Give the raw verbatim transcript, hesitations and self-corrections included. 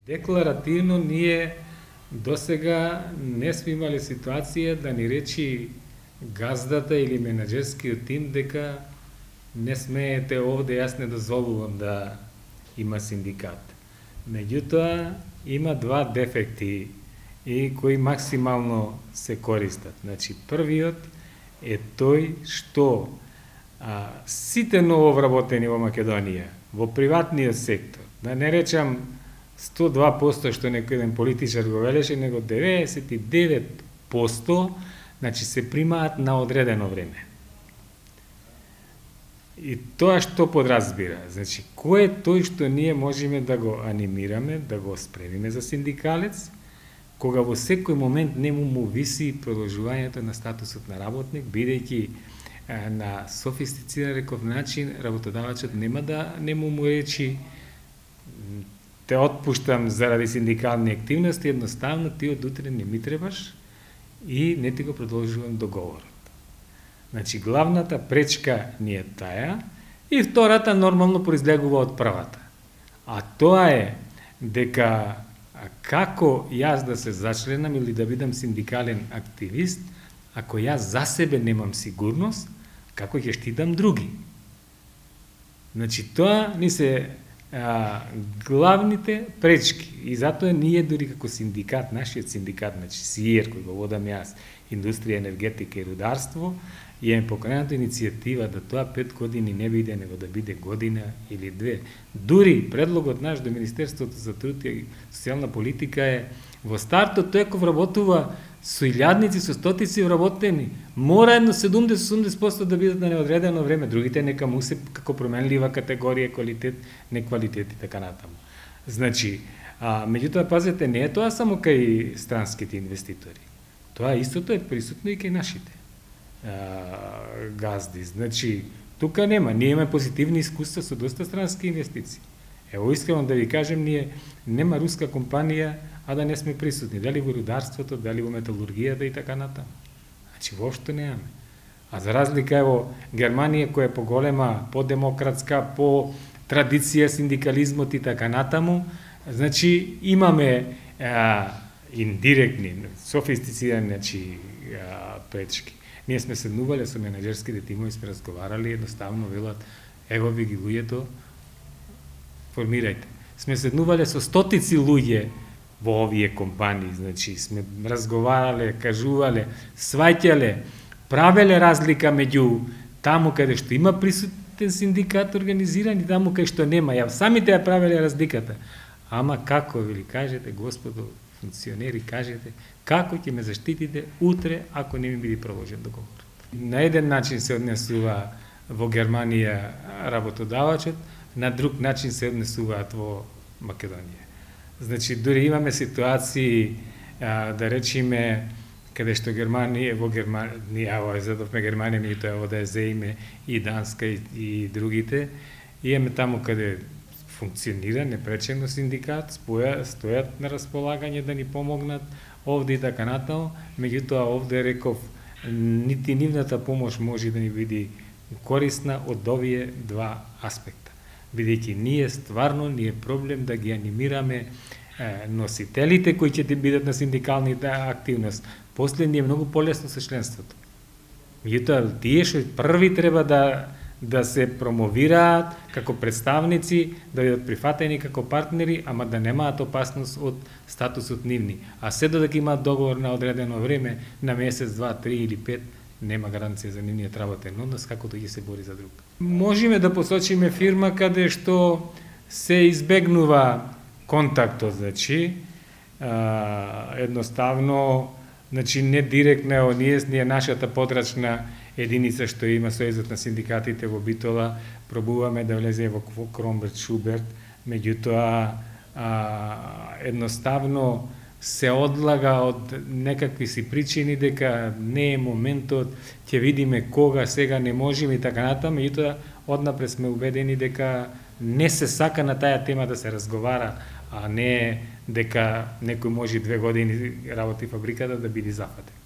Декларативно ние досега не сме имали ситуација да ни речи газдата или менаџерскиот тим дека не смеете овде, јас не дозволувам да има синдикат. Меѓутоа, има два дефекти и кои максимално се користат. Значи, првиот е тој што а, сите нововработени во Македонија, во приватниот сектор, да не речам сто и два проценти што некој еден политичар го велеше, него деветдесет и девет проценти, значи се примаат на одредено време. И тоа што подразбира? Значи, кој е тој што ние можеме да го анимираме, да го спремиме за синдикалец, кога во секој момент не му му виси продолжувањето на статусот на работник, бидејќи на софистициран реков начин работодавачот нема да не му му речи те отпуштам заради синдикални активности, едноставно ти од утре не ми требаш и не ти го продолжувам договорот. Значи, главната пречка ни е таа и втората нормално произлегува од првата. А тоа е дека како јас да се зачленам или да бидам синдикален активист, ако јас за себе немам сигурност, како ќе штитам други? Значи, тоа ни се а, главните пречки. И затоа ние дори како синдикат, нашиот синдикат, значи СИЕР, кој го водам јас, Индустрија, енергетика и рударство, и е покrenata иницијатива да тоа пет години не биде, него да биде година или две. Дури предлогот наш до Министерството за труд и социјална политика е во стартот тој ако вработува со илјадници, со стотици вработени, мора едно седумдесет до осумдесет проценти да бидат на неодредено време, другите нека му се како променлива категорија, квалитет, неквалитет и така натаму. Значи, а, меѓутоа, пазете, не е тоа само кај странските инвеститори. Тоа истото е присутно и кај нашите а, газди. Значи, тука нема. Ние имаме позитивни искуства со доста странски инвестиции. Ево, искрено да ви кажем, ние нема руска компанија, а да не сме присутни. Дали во рударството, дали во металургијата и така натаму. Значи, воопшто немаме. А за разлика ево Германија, која е поголема, по-демократска, по традиција синдикализмот и така натаму, значи имаме а, индиректни, софистицирани, значи, а, пречки. Ние сме седнувале со менаџерските тимови, сме разговарали, едноставно велат, ево ви ги луѓето, формирајте. Сме седнувале со стотици луѓе во овие компании, значи сме разговарале, кажувале, сваќале, правеле разлика меѓу таму каде што има присутен синдикат организиран и таму каде што нема. Ја самите ја правеле разликата. Ама како ви кажете, господо функционери, кажете, како ќе ме заштитите утре ако не ми биде продолжен договор? На еден начин се однесува во Германија работодавачот, на друг начин се однесуваат во Македонија. Значи, дури имаме ситуации, а, да речеме, каде што Германија, во Германија, во задовме Германија, ми тоа да ја зеиме и Данска и, и другите, имаме таму каде функционира непречено синдикат, споја, стојат на располагање да ни помогнат овде и така натаму, меѓутоа овде реков, нити нивната помош може да ни биде корисна од овие два аспекта. Бидејќи ние стварно ни е проблем да ги анимираме е, носителите кои ќе бидат на синдикалните активност. После ни е многу полесно со членството. Меѓутоа, тие што први треба да да се промовираат како представници, да бидат прифатени како партнери, ама да немаат опасност од статусот нивни. А се додека имаат договор на одредено време, на месец, два, три или пет, нема гаранција за нивниот работен однос, како тој ќе се бори за друг. Можеме да посочиме фирма каде што се избегнува контактот, значи, а, едноставно, значи не директно, ние, ние нашата подрачна единица што има Сојузот на синдикатите во Битола, пробуваме да влезе во Кромберт Шуберт, меѓутоа а, едноставно се одлага од некакви си причини дека не е моментот, ќе видиме кога, сега не можеме и така натаму, меѓутоа однапред сме убедени дека не се сака на таа тема да се разговара, а не дека некој може две години работи фабриката да биде зафатен.